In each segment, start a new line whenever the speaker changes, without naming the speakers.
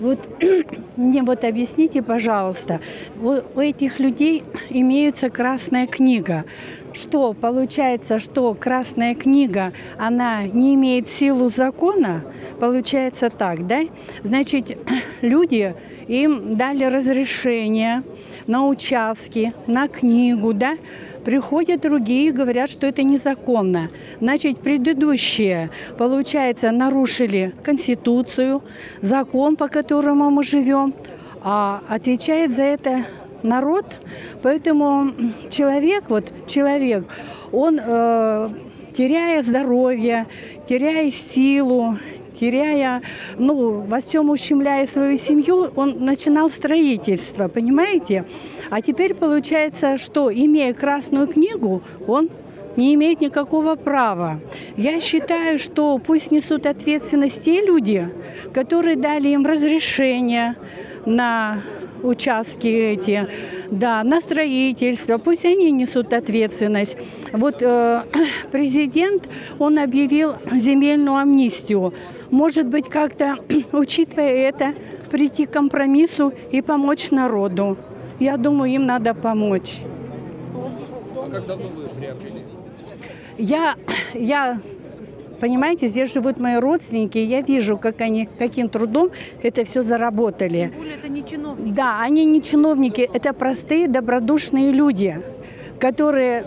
Вот мне вот объясните, пожалуйста, у этих людей имеется красная книга. Что получается, что красная книга, она не имеет силу закона? Получается так, да? Значит, люди, им дали разрешение на участки, на книгу, да? Приходят другие и говорят, что это незаконно. Значит, предыдущие, получается, нарушили Конституцию, закон, по которому мы живем, а отвечает за это народ. Поэтому человек, он, теряя здоровье, теряя силу, теряя, во всем ущемляя свою семью, он начинал строительство, понимаете? А теперь получается, что, имея красную книгу, он не имеет никакого права. Я считаю, что пусть несут ответственность те люди, которые дали им разрешение на участки эти, да, на строительство, пусть они несут ответственность. Вот президент, он объявил земельную амнистию. Может быть, как-то, учитывая это, прийти к компромиссу и помочь народу. Я думаю, им надо помочь.
А как давно вы приобрели?
Я, понимаете, здесь живут мои родственники, и я вижу, как они, каким трудом это все заработали.
Тем более, это не чиновники.
Да, они не чиновники, это простые, добродушные люди, которые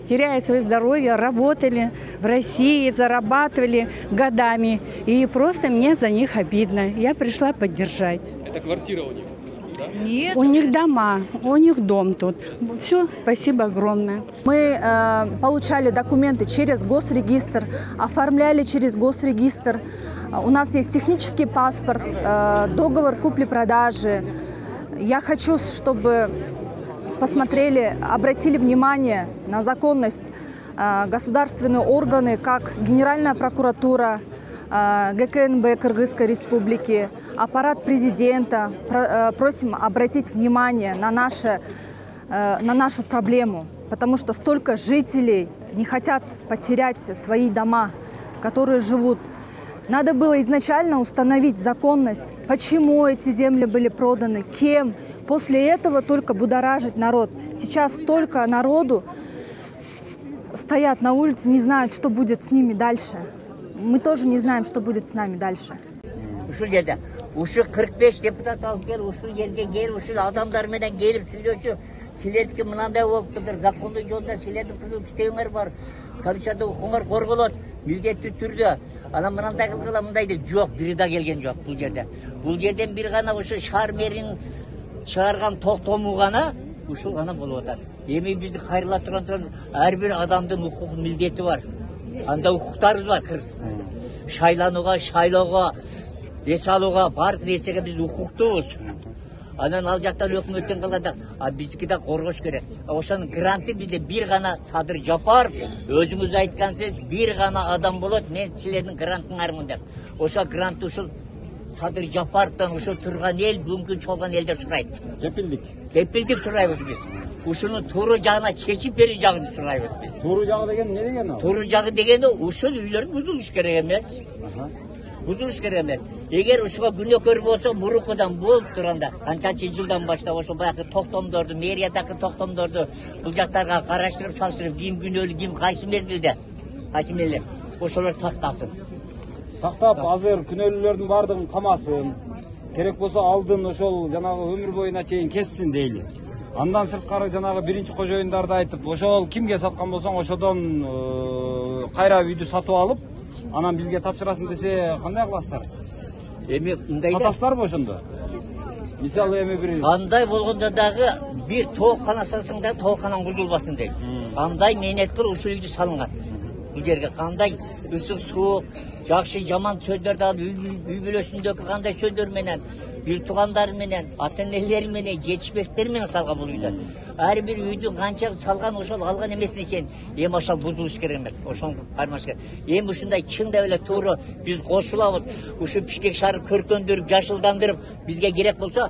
теряют свое здоровье, работали в России, зарабатывали годами. И просто мне за них обидно. Я пришла поддержать.
Это квартира у них? Да?
Нет.
У них дома, у них дом тут. Все, спасибо огромное.
Мы получали документы через госрегистр, оформляли через госрегистр. У нас есть технический паспорт, договор купли-продажи. Я хочу, чтобы посмотрели, обратили внимание на законность государственные органы, как Генеральная прокуратура, ГКНБ Кыргызской Республики, аппарат президента. Просим обратить внимание на нашу проблему, потому что столько жителей не хотят потерять свои дома, которые живут. Надо было изначально установить законность, почему эти земли были проданы, кем. После этого только будоражить народ. Сейчас столько народу стоят на улице, не знают, что будет с ними дальше. Мы тоже не знаем, что будет с нами дальше.
Ушул жерде ушу 45 депутат алып кел, ушул жерге кел, ушул адамдар менен келип сүйлөшүп, силердики мынандай болуптур, закондуу жолдо силердин кызыл китебиңер бар, Конституцияда укуңар корголот, милдеттүү түрдө. Анан мындай кылгыла, мындай деп жок, бири да келген жок бул жерде. Бул жерден бир гана ушу шаар мэринин чыгарган токтому гана ушул гана болуп атат. Эми бизди кайрыла турган ар бир адамдын укук милдети бар. Анда укуктарыбыз бар. Шайланууга, шайлоого, эс алууга, баардык нерсеге биз укуктуубуз. Анан ал жактан өкмөттөн калганда, биздики да коргош керек. Ошонун гранты бизде бир гана Садыр Жапаров, өзүңүз айткансыз, бир гана адам болот, мен силердин грантыңармын деп. Ошо грантты ушул Садыр Жапаровдон ушул турган эл, бүгүнкү чолгон элдер сурайт. Кепилдик сурайбыз биз. Ушунун туура жагына чечип берүү жагын сурайбыз биз.
Туура жагы деген эмне деген ал?
Туура жагы дегени ушул үйлөр бузулуш керек эмес. Бузулуш керек эмес. Эгер ушуга күнөөкөр болсо, мурукудан болуп турганда, канчанчы жылдан баштап ошо баягы токтомдорду, мэриядагы токтомдорду бул жактарга караштырып салыштырып, ким күнөөлүү, ким кайсы мезгилде, кайсы мезгилде ошолор тактасын.
Тактап, азыр күнөөлүүлөрдүн баардыгын камасын. Керек болсо алдын ошол жанагы өмүр боюна чейин кессин дейли. Андан сырткары жанагы биринчи кожоюндарды айтып, ошол кимге саткан болсоң, ошодон кайра үйдү сатып алып, анан бизге тапшырасың десе, кандай кыласыздар?
Эми мындай
сатасыздарбы ошондо? Мисалы эми бир
кандай болгондо дагы бир тооккана салсаң да тоокканан бузулбасын дейт. Кандай мээнет кылып ушул үйдү салынган. Бул жерге кандай ысык суук, жакшы жаман сөздөрдү алып, үй бүлөсүндөгү кандай сөздөр менен, бир туугандар менен, ата-энелери менен, жетишпестер менен салган бул үйдө. Ар бир үйдүн канча салган ошол алган эмесине чейин эми ошол бузулуш керек эмес. Ошону кармаш керек. Эми ушундай чындап эле туура биз кошулабыз. Ушу Бишкек шаарын көркөндүрүп, жашылдандырып, бизге керек болсо,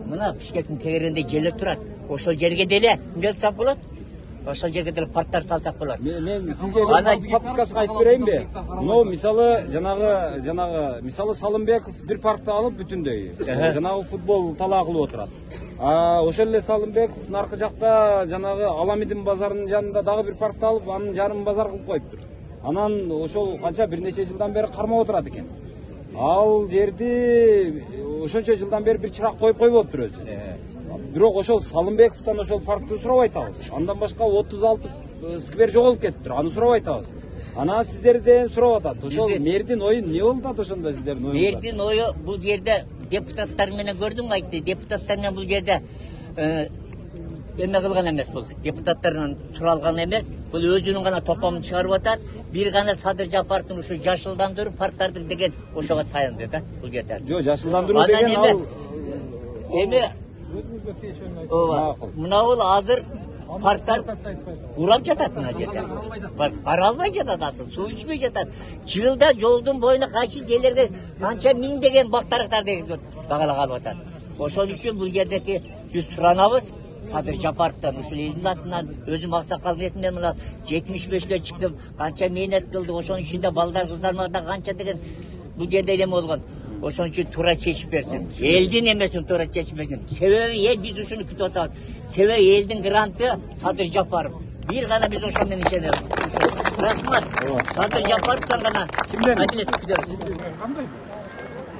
мына Бишкектин тегерегинде жерлер турат. Ошол жерге деле эмне кылсак болот? ошол жерге деле парктар салсак болот.
Мен сизге подсказка айтып берейинби? Но мисалы мисалы Салымбеков бир паркты алып бүтүндөй жанагы футбол талаа кылып отурат. Ошол эле Салымбеков наркы жакта жанагы Аламидин базарынын жанында дагы бир паркты алып, анын жарым базар кылып коюптур. Анан ошол канча бир нече жылдан бери кармап отурат экен. Ал жерди ошончо жылдан бери бир чырак коюп койбоптур өзү. Бирок ошол Салымбековдон ошол паркты сурабай атабыз. Андан башка 36 сквер жоголуп кетиптир. Аны сурабай атабыз. Анан сиздерден сурап атат. Ошол мэрдин ою эмне болуп атат ошондо сиздердин оюңуздар?
Мэрдин ою бул жерде депутаттар менен көрдүңбү айтты. Депутаттар менен бул жерде эме кылган эмес бул. Депутаттардан суралган эмес. Бул өзүнүн гана топомун чыгарып атат. Бир гана Садыр Жапаровдун ушу жашылдандыруу парктарды деген ошого таянды да бул жерде.
Жок, жашылдандыруу деген ал
эме мына бул азыр парктар урап жатат мына жерде. Каралбай жатат, суу ичпей жатат. Жылда жолдун боюна кайсы жерлерге канча миңдеген бактарактар дегизип багалап алып атат. Ошол үчүн бул жердеки биз суранабыз Садыр Жапаровдон ушул элдин атынан өзүм аксакал ретинде мына 75гө чыктым, канча мээнет кылды, ошонун ичинде балдар кыздарыма да канча деген бул жерде эме болгон. Ошон үчүн туура чечип берсин. Элдин эмесин туура чечип берсин. Себеби эл биз ушуну күтүп атабыз. Себеби элдин гранты Садыр Жапаров. Бир гана биз ошол менен ишенебиз. Рахмат. Садыр Жапаровдон гана адилет күтөбүз.
Кандай?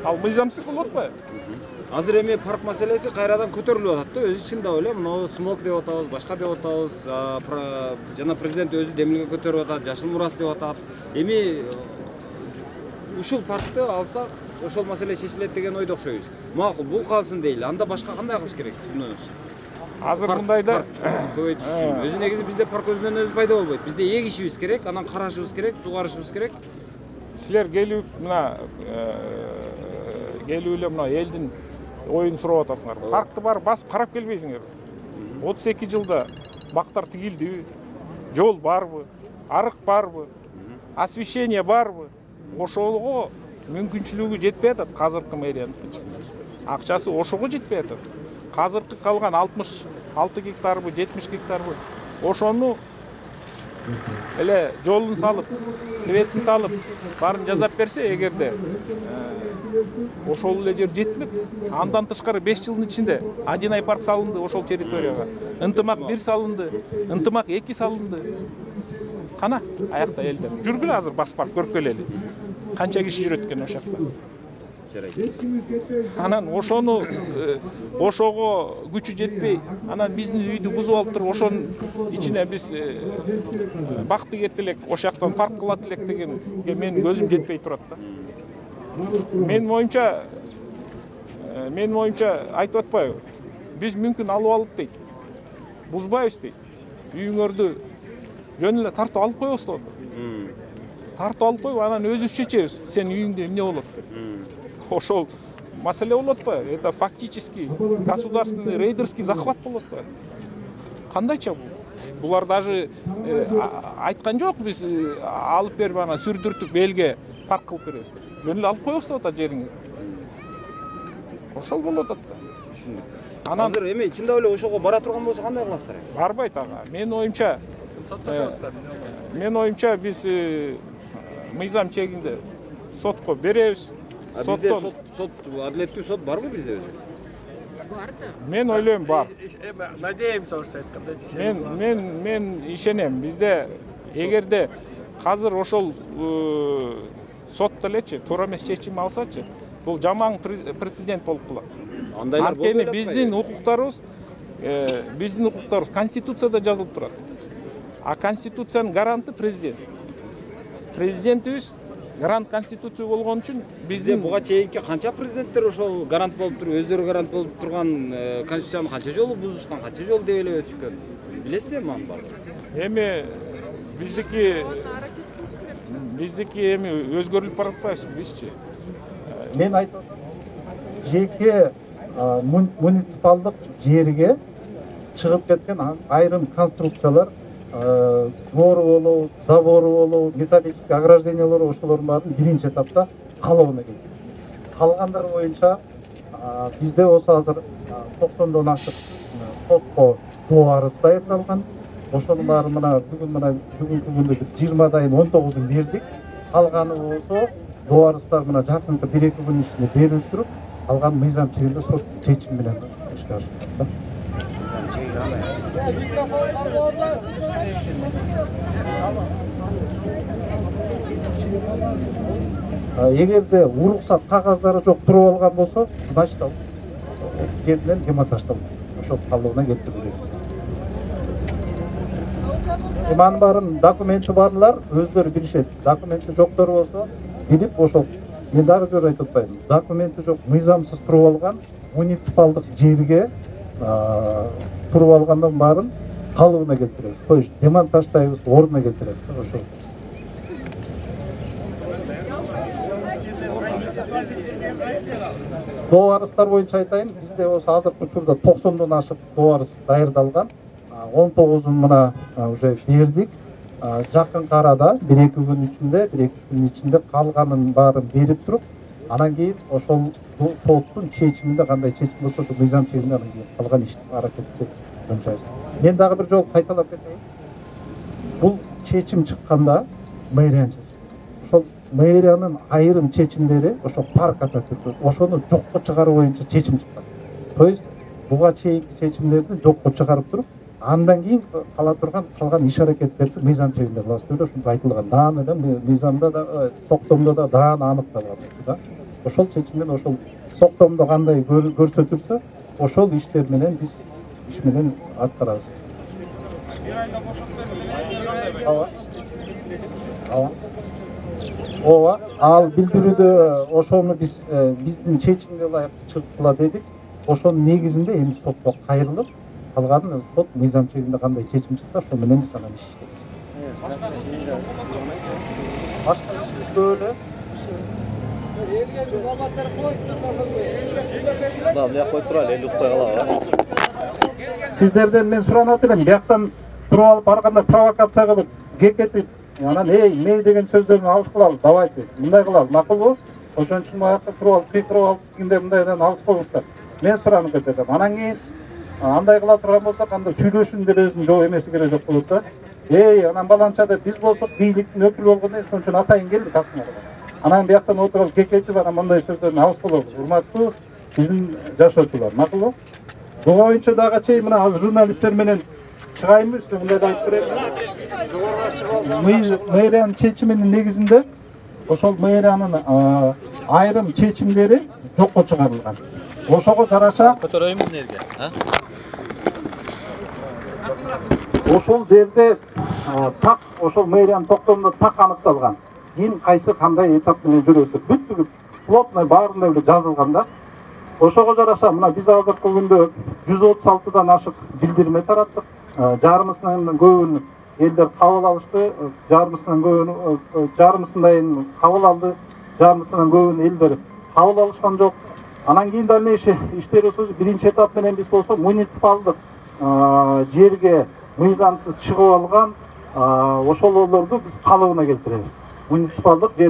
Ал мыйзамсыз болуп атпайбы?
Азыр эми парк маселеси кайрадан көтөрүлүп атат да. Өзү чын да эле мына смок деп атабыз, башка деп атабыз. Жана президент өзү демилге көтөрүп атат, жашыл мурас деп атат. Эми ушул паркты алсак ошол маселе чечилет деген ойдо окшойбуз. Макул, бул калсын дейли. Анда башка кандай кылыш керек сиздин оюңузча?
Азыр мындайда
көбөйтүш үчүн. Өзү негизи бизде парк өзүнөн өзү пайда болбойт. Бизде эгишибиз керек, анан карашыбыз керек, сугарышыбыз керек.
силер келип мына келип эле мына элдин оюн сурап атасыңар. Паркты барып басып карап келбейсиңер. 32 жылда бактар тигилдиби? Жол барбы? Арык барбы? Освещение барбы? Ошого мүмкүнчүлүгү жетпей атат азыркы мэриянын. Акчасы ошого жетпей атат. Азыркы калган 66 гектарбы, 70 гектарбы ошону эле жолун салып, светин салып, баарын жасап берсе, эгерде ошол эле жер жетилип, андан тышкары 5 жылдын ичинде один ай парк салынды ошол территорияга. Ынтымак 1 салынды, ынтымак 2 салынды. Кана аякта элдер. Жүргүлө азыр басып барып көрүп келели. Канча киши жүрөт экен ошол жакта. Анан ошону ошого күчү жетпей, анан биздин үйдү бузуп алып туруп, ошонун ичине биз бакты кетти элек, ошол жактан парк кылат элек дегенге менин көзүм жетпей турат да. Менин оюмча айтып атпайбы? Биз мүмкүн алып алып дейт. Бузбайбыз дейт. Үйүңөрдү жөн эле тартып алып коебуз да. Тартып алып коюп, анан өзүбүз чечебиз. Сен үйүңдө эмне болот деп. Ошол маселе болот атпайбы? Это фактически государственный рейдерский захват болот атпайбы? Кандайча бул? Булар даже айткан жок, биз алып берип анан сүрдүртүп элге парк кылып беребиз. Жөн эле алып коебуз деп атат жериңи. Ошол болот атат.
Түшүндүк. Азыр эми чында эле ошого бара турган болсо кандай кыласыздар?
Барбайт ага. Менин оюмча биз мыйзам чегинде сотко беребиз.
Бизде сот адилеттүү сот барбы бизде өзү?
Бар да. Мен ойлойм бар.
Надеемся, айткандай.
Мен ишенем. Бизде эгерде азыр ошол сотто элечи туура эмес чечим алсачы, бул жаман прецедент болуп калат.
Андайлар болбой
эле. Биздин укуктарыбыз Конституцияда жазылып турат. А Конституциянын гаранты президент. Президентибиз гарант Конституция болгон үчүн
бизде буга чейинки канча президенттер ошол гарант болуп туруп, өздөрү гарант болуп турган Конституцияны канча жолу бузушкан, канча жолу дебелеп өтүшкөн. Билесиздерби аны баарын?
Эми биздики эми өзгөрүлүп баратпайбы бизчи?
Мен айтып жеке муниципалдык жерге чыгып кеткен айрым конструкциялар, двору болобу, забору болобу, металлический ограждениялары ошолордун баарын биринчи этапта калыбына келтирди. Калгандары боюнча бизде болсо азыр 90дон ашык сотко доо арыз даярдалган. ошонун баары бүгүнкү күндө 20-дайын 19-ун бердик. Калганы болсо дубарыстар жакынкы 1-2 күн ичинде берилип туруп, калган мыйзам чегинде сот чечими менен ишке ашырылат. Эгерде уруксат кагаздары жок туруп алган болсо, значит ал жерден демонтаждалат. Ошол калыбына келтирилет. Анын баарын документи барлар өздөрү билишет. Документи жоктор болсо, билип ошол. Мен дагы жөн айтып атпайм. Документи жок, мыйзамсыз туруп алган муниципалдык жерге туруп алгандан баарын калыбына келтиребиз. То есть демонтаждайбыз, ордуна келтиребиз. Ошол. Дубарыстар боюнча айтайын, бизде болсо азыркы учурда 90дон ашык дубарыс даярдалган. 19-ун уже бердик. Жакын арада 1-2 күн ичинде калганын баарын берип туруп, анан кийин ошол соттун чечиминде кандай чечим болсо, ошол мыйзам чегинде анан кийин калган ишти аракетти жөнчөйбүз. Мен дагы бир жолу кайталап кетейин. Бул чечим чыкканда мэриянын чечими. Ошол мэриянын айрым чечимдери ошол парк ата түрдө ошону жокко чыгаруу боюнча чечим чыккан. То есть буга чейинки чечимдерди жокко чыгарып туруп, андан кийин кала турган калган иш аракеттерди мыйзам чегинде кылабыз деп ушундай айтылган. Дааны да мыйзамда да токтомдо да дааны аныкталган да. Ошол чечим менен ошол токтомдо кандай көрсөтүлсө, ошол иштер менен биз иш менен аткарабыз. Ооба, ал билдирүүдө ошону биз биздин чечимге ылайык чыктыла дедик. Ошонун негизинде эми сотко кайрылып, калганын сот мыйзам чегинде кандай чечим чыкса, ошол менен биз анан иш иштейбиз. Башка иште эле.
Да, бияк коюп турайлы, эл укпай калабы.
Сиздерден мен суранат элем, бияктан туруп алып барганда провокация кылып, кекетип, анан мей деген сөздөрдүн алыс кылалы, давайте, мындай кылалы, макулбу? Ошон үчүн аякта туруп алып, кекирип алып кийинде мындайдан алыс болуңуздар. Мен суранып кетем. Анан кийин андай кыла турган болсок, анда сүйлөшүүнүн деле өзүнүн жок эмеси керек жок болот да. Анан баланча деп биз болсок бийликтин өкүлү болгондон ошон үчүн атайын келдик астыңарга. Анан бияктан отуруп кекетип, анан мындай сөздөрдөн алыс болобуз. Урматтуу биздин жашоочулар, макулбу? Буга боюнча дагы чейин мына азыр журналисттер менен чыгайынбы, мындай да айтып берем. Мэриянын чечиминин негизинде ошол мэриянын айрым чечимдери жокко чыгарылган. Ошого жараша
Көтөрөйүнбү нерге,
ошол жерде так ошол мэриянын токтомунда так аныкталган. Ким кайсы кандай этап менен жүрөсү бүт плотный баарында эле жазылган да. Ошого жараша мына биз азыркы күндө 136дан ашык билдирме тараттык. Жарымысынан көбүн элдер кабыл алышты, жарымысындайын кабыл алды, жарымысынан көбүн элдер кабыл алышкан жок. Анан кийин дальнейший иштерибиз биринчи этап менен биз болсо муниципалдык жерге мыйзамсыз чыгып алган ошолорду биз калыбына келтиребиз. Муниципалдык жер